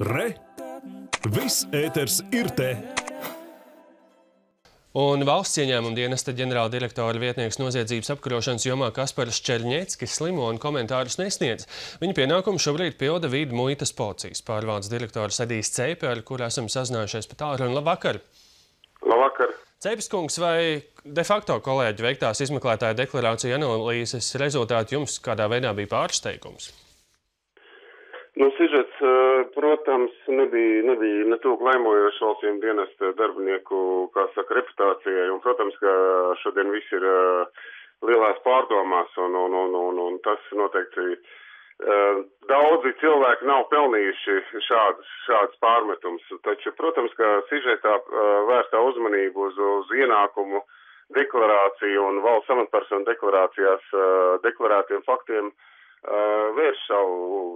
Re! Viss ēters ir te! Un valsts ieņēmuma dienesta ģenerāla direktora vietnieks noziedzības apkarošanas jomā Kaspars Čerņeckis slimo un komentārus nesniedz. Viņa pienākumu šobrīd pilda Vidu muitas policijas pārvaldes direktors Edijs Ceipe, ar kuru esam sazinājušies pa tālruni. Labvakar! Labvakar! Ceipes kungs, vai de facto kolēģi veiktās izmeklētāja deklarācija analīzes rezultāti jums kādā veidā bija pārsteigums? Sižets, protams, nebija ne tūk laimojoši valsts dienesta darbinieku, kā saka, reputācijai, un, protams, ka šodien viss ir lielās pārdomās, un tas noteikti daudzi cilvēki nav pelnījuši šādas pārmetums, taču, protams, ka sižetā vērstā uzmanību uz ienākumu deklarāciju un valsts amatpersonu deklarācijās deklarētiem faktiem vērš savu,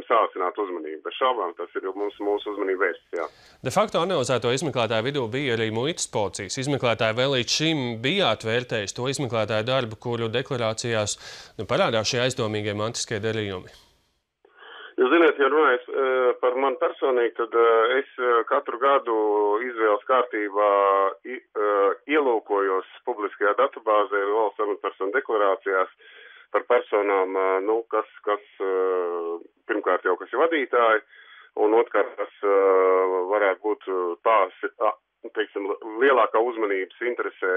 sācināt uzmanību. Bez šaubām tas ir mūsu uzmanību vērsts, jā. De facto analizēto izmeklētāju vidū bija arī muitas policijas. Izmeklētāji vēl līdz šim bijāt vērtējis to izmeklētāju darbu, kuru deklarācijās parādās šie aizdomīgie mantiskie darījumi. Jūs ziniet, ja runājot par mani personīgi, tad es katru gadu izvēles kārtībā ielūkojos publiskajā datubāzē valsts amatpersonu deklarācijās par personām, kas pirmkārt jau kas ir vadītāji, un otrkārt, kas varētu būt lielākā uzmanības interesē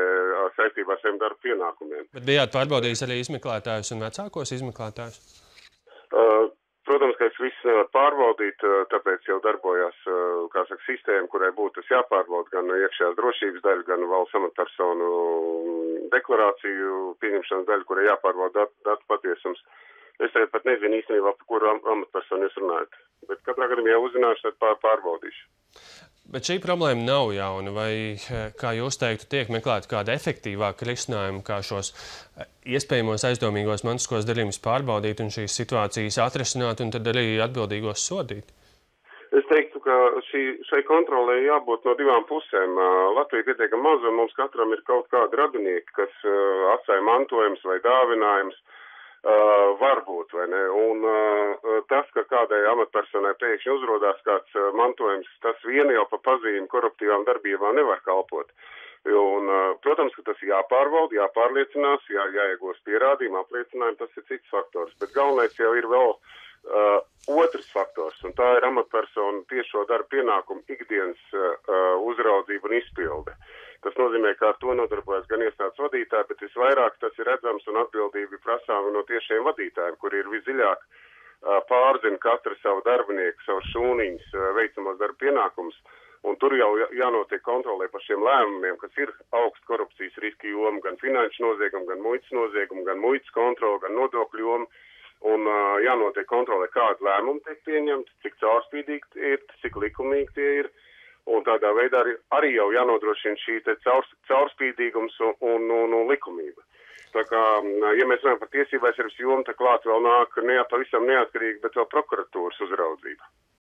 saistībā ar saviem darba pienākumiem. Bet bijāt pārbaudījis arī izmeklētājus un vecākos izmeklētājus? Protams, ka es visu nevaru pārbaudīt, tāpēc jau darbojās, sistēma, kurai būtu tas jāpārbauda gan iekšējās drošības daļa, gan valsts amatpersonu deklarāciju pieņemšanas daļa, kurai jāpārbauda datu patiesums. Es arī pat nezinu īstenībā, par kuru amatpersonu jūs runājat, bet katrā gadījumā jau uzzināšu, tad pārbaudīšu. Bet šī problēma nav jauna, vai, kā jūs teiktu, tiek meklēta kāda efektīvāka risinājuma, kā šos iespējamos aizdomīgos mantiskos darījumus pārbaudīt un šīs situācijas atrisināt un tad arī atbildīgos sodīt? Es teiktu, ka šai kontrolē jābūt no divām pusēm. Latvija pietiekami maza, un mums katram ir kaut kādi radinieki, kas atstāja mantojums vai dāvinājums. Varbūt, vai ne? Un tas, ka kādai amatpersonai pēkšņi uzrodās kāds mantojums, tas vien jau pa pazīmi koruptīvām darbībām nevar kalpot. Un, protams, ka tas jāpārbauda, jāpārliecinās, jāiegūst pierādījumi, apliecinājumi, tas ir cits faktors. Bet galvenais jau ir vēl otrs faktors, un tā ir amatpersonu tiešo darba pienākumu ikdienas uzraudzība un izpilde. Tas nozīmē, ka ar to nodarbojas gan iestādes vadītāji, bet visvairāk tas ir redzams un atbildība prasām no tiešiem vadītājiem, kuri ir visdziļāk pārzina katru savu darbinieku, savu šūniņus, veicamos darba pienākumus, un tur jau jānotiek kontrolē par šiem lēmumiem, kas ir augsts korupcijas riski joma, gan finanšu noziegumu, gan muitas kontroli, gan nodokļu joma, un jānotiek kontrolē, kādi lēmumi tiek pieņemti, cik caurspīdīgi ir, cik likumīgi tie ir. Un tādā veidā arī jau jānodrošina šī caurspīdīgums un likumība. Tā kā, ja mēs runājam par tiesību aizsardzības jomu, tad klāt vēl nāk pavisam neatkarīgi, bet vēl prokuratūras uzraudzība.